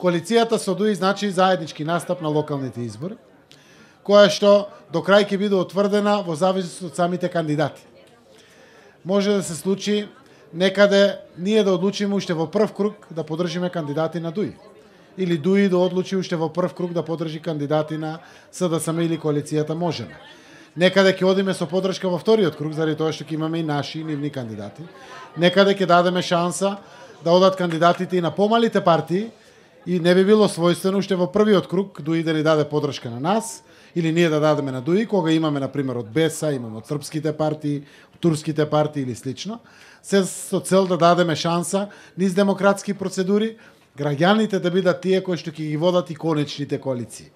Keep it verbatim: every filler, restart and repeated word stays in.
коалицијата со ДУИ значи заеднички настап на локалните избори, која што до крај ќе биде утврдена во зависност од самите кандидати. Може да се случи некаде ние да одлучиме уште во прв круг да поддржиме кандидати на ДУИ. Или ДУИ да одлучи уште во прв круг да поддржи кандидати на СДСМ или коалицијата Можеме. Некаде ќе одиме со поддршка во вториот круг, заради тоа што ќе имаме и наши и нивни кандидати. Некаде ќе дадеме шанса да одат кандидатите и на помалите партии и не би било својствено уште во првиот круг ДУИ да ни даде поддршка на нас или ние да дадеме на ДУИ, кога имаме, например, од БЕСА, имаме од српските партии, турските партии или слично, се со цел да дадеме шанса низ демократски процедури, граѓаните да бидат тие кои што ќе ги водат и конечните коалиции.